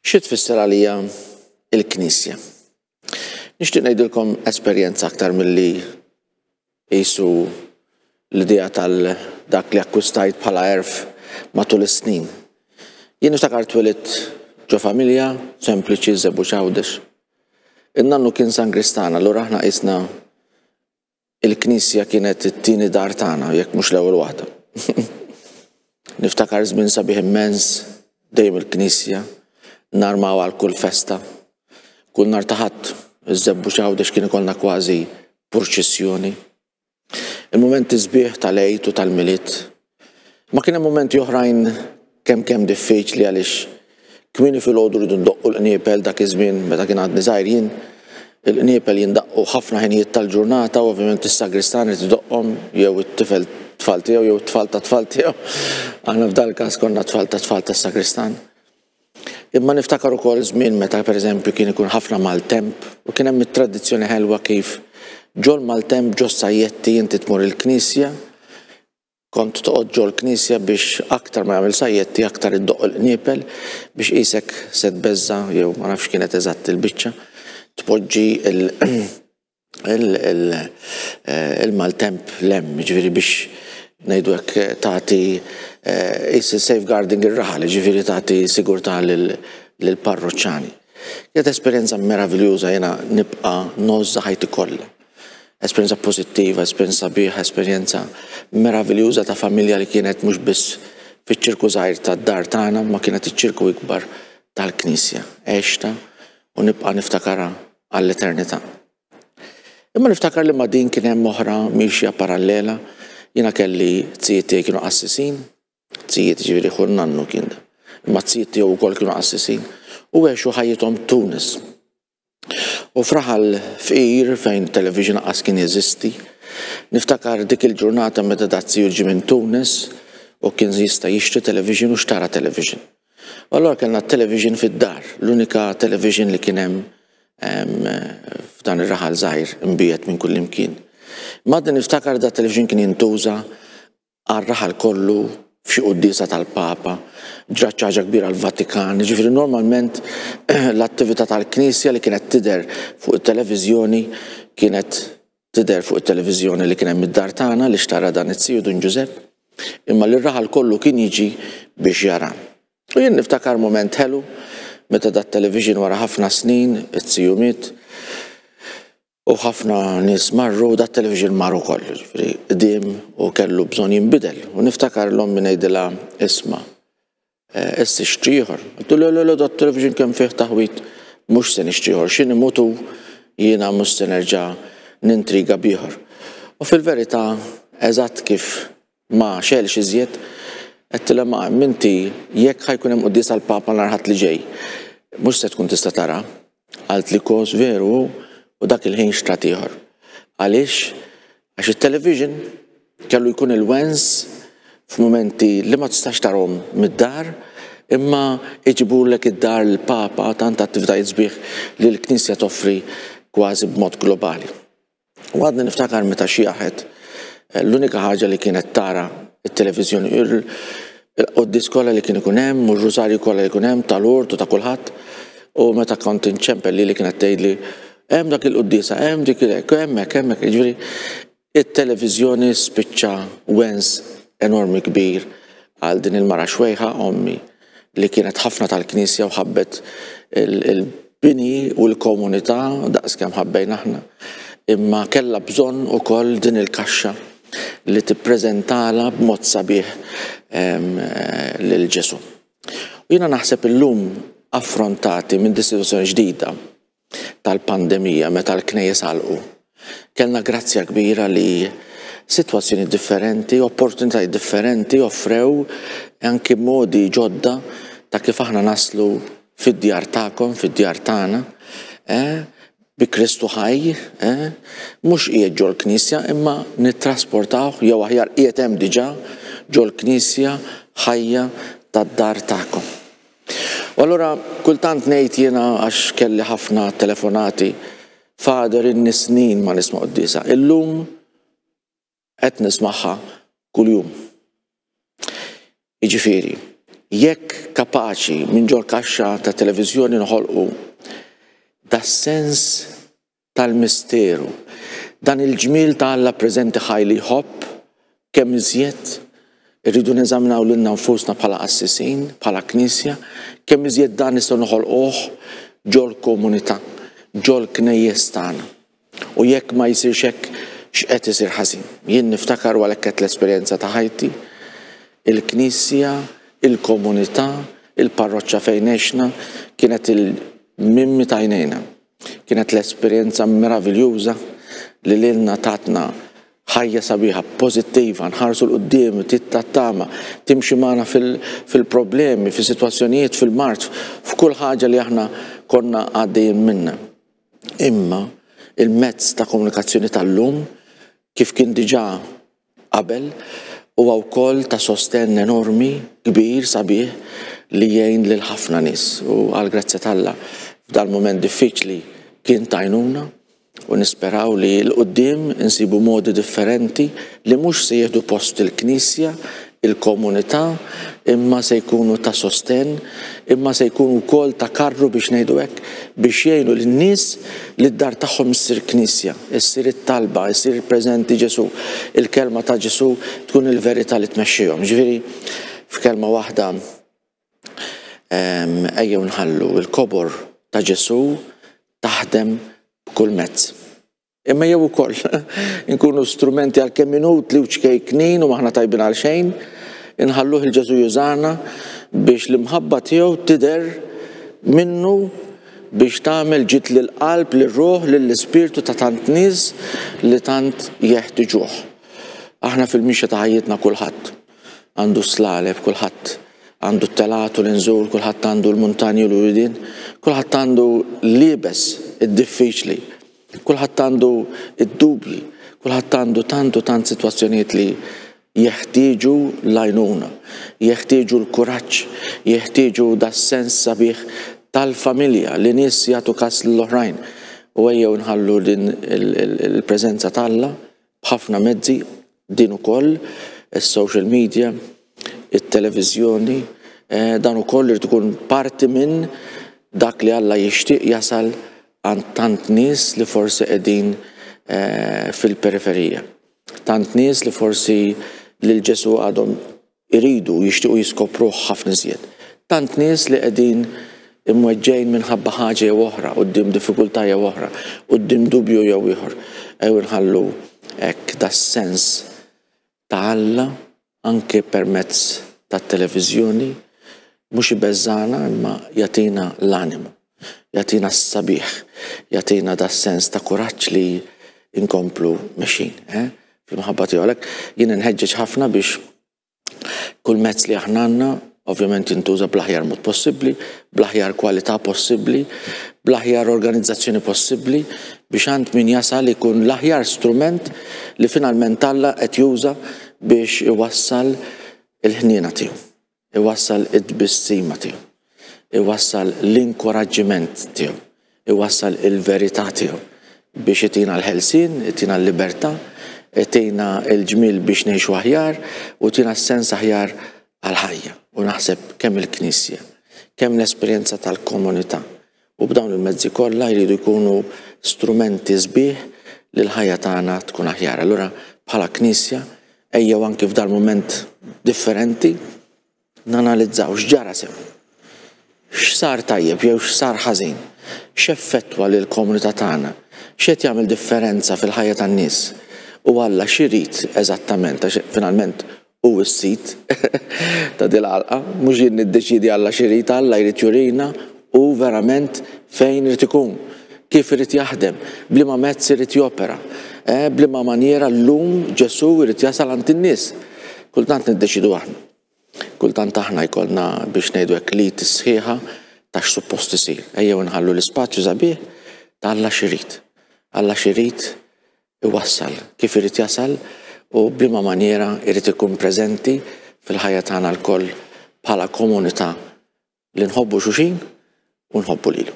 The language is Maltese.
Xi tfisser għalija il-Knisja? Nixtieq ngħidilkom esperjenza aktar milli qisu l-idea tal dak li akkwistajt bħala għerf matul is-snin. Jien niftakar twelidt ġo familja sempliċi Żebbuġ Għawdex. In-nannu kien Sangristan, allura aħna qisna Il-knisja kienet it-tieni dar tagħna, jekk mhux l-ewwel waħda. Niftakar żmien sabiħ immens, dejjem il-knisja, narmaw għal kull festa. Kull nhar ta' Ħadd, iż-Żebbuġ Għawdex kien ikollna kważi purċissjoni. Il-mumenti sbieħ tal-Għid u tal-Milied. Ma kien hemm mumenti oħrajn kemm kemm diffiċli għaliex kmieni filgħodu rridu ndoqqu l-qniepel dak iż-żmien meta kien għadni żgħir jien. Il-qniepel jindaqqu ħafna ħinijiet tal-ġurnata u ovvjament is-sagristan irid idoqqhom jew it-tifel tfal tiegħu jew it-tfal tat-tfal tiegħu. Aħna f'dal-każ konna tfal tat-tfal tas-sagristan. Imma niftakar ukoll żmien meta pereżempju kien ikun ħafna maltemp u kien hemm it-tradizzjoni ħelwa kif ġol-maltemp ġos-sajjetti inti tmur il-knisja, kont toqgħod ġol-knisja biex aktar ma jagħmel sajjetti aktar iddoqq il-qniepel biex qisek se tbeżża' jew ma nafx kienet eżatt il-biċċa tpoġġi il-maltemp 'l hemm, jiġifieri biex ngħidu hekk tagħti qis safeguarding ir-raħal, jiġifieri tagħti sigurtà lill-parruċċani. Kienet esperjenza meraviljuża jiena nibqa' ngħożżha ħajti kollha. Esperjenza pożittiva, esperjenza sabiħa, esperjenza meraviljuża ta' familja li kienet mhux biss fiċ-ċirku żgħir tad-dar tagħna, ma kienet iċ-ċirku ikbar tal-Knisja. Għextha u nibqa' niftakarha għall-eternità. Imma niftakar li ma' din kien hemm oħra mixja parallela. Jiena kelli zijiet tiegħi kienu qassisin, zijiet ġifieri ħu nannu kien da. Imma zijiet tiegħu wkoll kienu qassisin u għexu ħajjithom Tunis. U f'raħal fqir fejn television qas kien jeżisti, niftakar dik il-ġurnata meta dat ziju ġie minn Tunis u kien jista' jixtri television u xtara television. U allura kellna television fid-dar, l-unika television li kien hemm f'dan ir-raħal żgħir imbiegħed minn kullimkien. Imma għadni niftakar dat television kien jintuża għar-raħal kollu f'xi quddiesa tal-Papa, ġrat xi ħaġa kbira l-Vatikan, jiġifieri normalment l-attività tal-Knisja li kienet tidher fuq it-televiżjoni kienet tidher fuq it-televiżjoni li kien hemm id-dar tagħna li xtara dan it-tiju Dun Ġużepp, imma li r-raħal kollu kien jiġi biex jara. U jien niftakar mument ħelu meta dat-television wara ħafna snin, it-tiju miet, U ħafna nies marru u dat-television mar ukoll, jiġifieri qdiem u kellu bżonn jinbidel. U niftakar l-ommi ngħidilha isma' eh, issa xtri ieħor. Għedtu le le le dat-television kemm fih taħwit mhux se nixtri ieħor, xi nimutu jiena mhux se nerġa' nintriga b'ieħor. U fil-verità eżatt kif ma xegħelx iżjed, għedtilha ma minti jekk ħa jkun hemm quddiesa l-Papa nhar Ħadd li ġej, mhux se tkun tista' tara. Qaltli kos veru hu u dak il-ħin xtrat ieħor. Għaliex? Għax it-television kellu jkun il-wens f'mumenti li ma tistax tarhom mid-dar imma iġibulek id-dar l-Papa tant attivitajiet sbieħ li l-Knisja toffri kważi b'mod globali. U għadni niftakar meta xjaħet, eh, l-unika ħaġa li kienet tara it-televiżjoni, il-qoddis kollha li kien ikun hemm, u r-rużarju kollha li jkun hemm tal-urt u ta' kulħadd. U meta kont inċempel li li kienet tgħidli hemm dak il-quddiesa, hemm dik il-hekk, hemmhekk, hemmhekk, jiġifieri it-televiżjoni spiċċa wens enormi kbir għal din il-mara xwejħa ommi li kienet ħafna tal-Knisja u ħabbet il-bini u l-komunità daqskemm ħabbejna aħna. Imma kellha bżonn ukoll din il-kaxxa li tippreżentala b'mod sabiħ lil Ġesù. U jiena naħseb illum affrontati minn din sitwazzjoni ġdida tal-pandemija meta l-knejjes għalqu. Kellna grazzja kbira li sitwazzjoni differenti, opportunitajiet differenti offrew anki modi ġodda ta' kif aħna naslu fid-djar tagħkom, fid-djar tagħna, eh, bi Kristu ħaj, eh, mhux qiegħed ġol-knisja imma nittrasportawh jew aħjar qiegħed hemm diġà ġol-knisja ħajja tad-dar tagħkom. U allura kultant ngħid jiena għax kelli ħafna telefonati, Father inni snin ma nisma' quddiesa. Illum qed nismagħha kuljum. Jiġifieri, Jekk kapaċi minn ġol kaxxa ta' televiżjoni noħolqu das-sens tal-misteru, dan il-ġmiel ta' Alla preżenti ħaj li jħobb, kemm iżjed irridu neżaminaw lilna nfusna bħala qassisin, bħala knisja, kemm iżjed dan nistgħu noħolquh ġol-komunità, ġol-knejjes tagħna. U jekk ma jsirx hekk, x'qed isir ħażin? Jien niftakar u għalhekk għedt l-esperjenza ta' ħajti, il-knisja, il-komunità, il-parroċċa fejn għexna kienet il-mimmi ta' għajnejna. Kienet l-esperjenza meraviljuża li lilna tatna ħajja sabiħa, pożittiva, nħarsu 'l quddiem, tat-tama, timxi magħna fil-problemi, fis-sitwazzjonijiet, fil-mard, f'kull ħaġa li aħna konna għaddejjin minnha. Imma il-mezz ta' komunikazzjoni tal-lum, kif kien diġà qabel, huwa wkoll ta' sostenn enormi, kbir, sabiħ, li jgħin lil ħafna nies. U għall-grazzja t'Alla, f'dal-mument diffiċli kien t'għajnuna u nisperaw li 'l quddiem insibu modi differenti li mhux se jieħdu post il-Knisja, il-komunità, imma se jkunu ta' sostenn, imma se jkunu wkoll ta' karru biex ngħidu hekk, biex jgħinu lin-nies li d-dar tagħhom issir knisja, issir it-talba, issir preżenti Ġesù, il-kelma ta' Ġesù tkun il-verità li tmexxihom. Ġifieri, f'kelma waħda, ejjew nħallu l-kobor ta' Ġesù taħdem b'kull mezz. Imma jew ukoll inkunu strumenti għalkemm inutli u ċkejknin u m'aħna tajbin għal xejn, inħalluh il Ġesù jużana biex l-imħabba tiegħu tidher minnu biex tagħmel ġid lill-qalb, lir-ruħ, lill-ispirtu ta' tant nies li tant jeħtiġuh. Aħna fil-mixja ta' ħajjitna kulħadd għandu s-slaleb, kulħadd għandu t-telgħat u l-inżul, kulħadd għandu l-muntanji u l-widien, kulħadd għandu l-iebes, id-diffiċli. Kulħadd għandu d-dubji, kulħadd għandu tant u tant sitwazzjonijiet li jeħtieġu l-għajnuna, jeħtieġu l-kuraġġ, jeħtieġu das-sens sabiħ tal-familja li nies jagħtu kas lill-oħrajn. U ejjew nħallu din il-preżenza t'Alla b'ħafna mezzi, din ukoll, is-social media, it-televiżjoni, eh, dan ukoll irid ikun parti minn dak li Alla jixtieq jasal għand tant nies li forsi qegħdin eh, fil-periferija. Tant nies li forsi lil Ġesu għadhom iridu jixtiequ jiskopruh ħafna iżjed. Tant nies li qegħdin imweġġgħin minħabba ħaġa jew oħra, quddiem diffikultà jew oħra, quddiem dubju jew ieħor. Ejjew inħallu hekk das-sens ta' Alla anke permezz tat-televiżjoni mhux ibeżżagħna imma jagħtina l-animu, jagħtina s-sabiħ, jagħtina das-sens ta' kuraġġ li nkomplu mexjin. Eh? Fil-mħabba tiegħu għalhekk jien inħeġġeġ ħafna biex kull mezz li aħna għandna ovvjament jintuża bl-aħjar mod possibbli, bl-aħjar kwalità possibbli, bl-aħjar organizzazzjoni possibbli biex għand min jasal ikun l-aħjar strument li finalment Alla qed juża biex iwassal il-ħniena tiegħu, iwassal it-tbissima tiegħu, iwassal l-inkoraġġiment tiegħu, iwassal il-verità tiegħu biex itina l-ħelsien, itina l-libertà, itina l-ġmiel biex ngħixu aħjar u tina s-sens aħjar għall-ħajja. U naħseb kemm il-Knisja, kemm l-esperjenza tal-komunità u b'dawn il-mezzi kollha jridu jkunu strumenti sbieħ li l-ħajja tagħna tkun aħjar. Allura bħala Knisja ejjew anki f'dal-mument differenti nanalizzaw x'ġara sew. X'sar tajjeb jew x'sar ħażin? X'effettwa lill-komunità tagħna? X'qed jagħmel differenza fil-ħajja tan-nies? U Alla x'irid eżattament għax finalment hu s-sid ta' dil-għalqa, mhux jien niddeċiedi Alla x'irid, Alla jrid jurina hu verament fejn irid ikun, kif irid jaħdem, b'liema mezz irid jopera, eh, b'liema manjera llum Ġesù jrid jasal għand in-nies. Kultant niddeċidu aħna. Kultant aħna jkollna biex ngħidu hekk l-id sħiħa ta' x'suppost isir. Ejjew nħallu l-ispazju sabiħ ta' Alla x'irid. Alla x'irid iwassal, kif irid jasal u b'liema manjera jrid ikun preżenti fil-ħajja tagħna lkoll bħala komunità li nħobbu xulxin u nħobbu lilu.